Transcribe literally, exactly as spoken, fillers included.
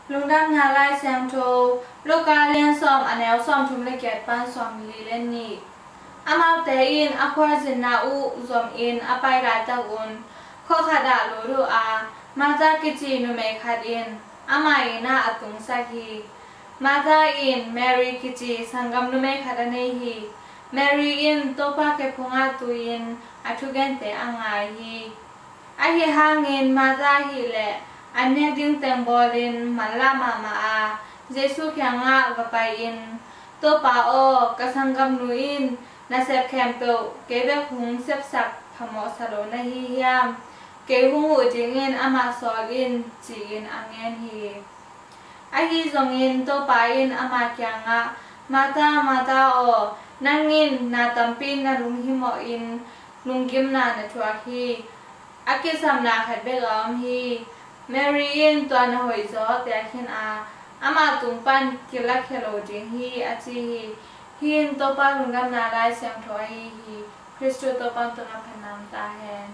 Lungdamna Lai Siangtho, Luka lian sawm, a neu sawmthum le giat pan sawmli le nih. Amaute in a khualzinna uh zomin a pai laitak un, khua khatah lut uh a, Martha kici numei khat in amah inn ah a tungsak hi. Martha in Mary kici sanggam numei khat a nei hi. Mary in Topa khe phungah tu-in a thugente a ngai hi. Ahi hangin Martha ahih leh an nek ding teng bawlin manlah mahmah a, Jesuh kiangah va pai-in, "Topa aw, ka sanggamnu in nasep khempeuh kei bek hong sepsak phamawhsa lo na hi hiam? Kei hong huh dingin amah sawl in," ci-in a ngen hi. Ahi zongin Topa in ama kiangah, "Martha, Martha aw, nang in na tampi na lunghimawhin lunggimna na thuak hi. A kisapna khat bek a om hi. Mary in tua na hoihzaw pia khin a, ama tung pan kilakhia lo ding hi," a ci hi. Hih in Topa Lungdamna Lai Siangtho ahi hi. Khristu Topa tungah phatna om ta hen.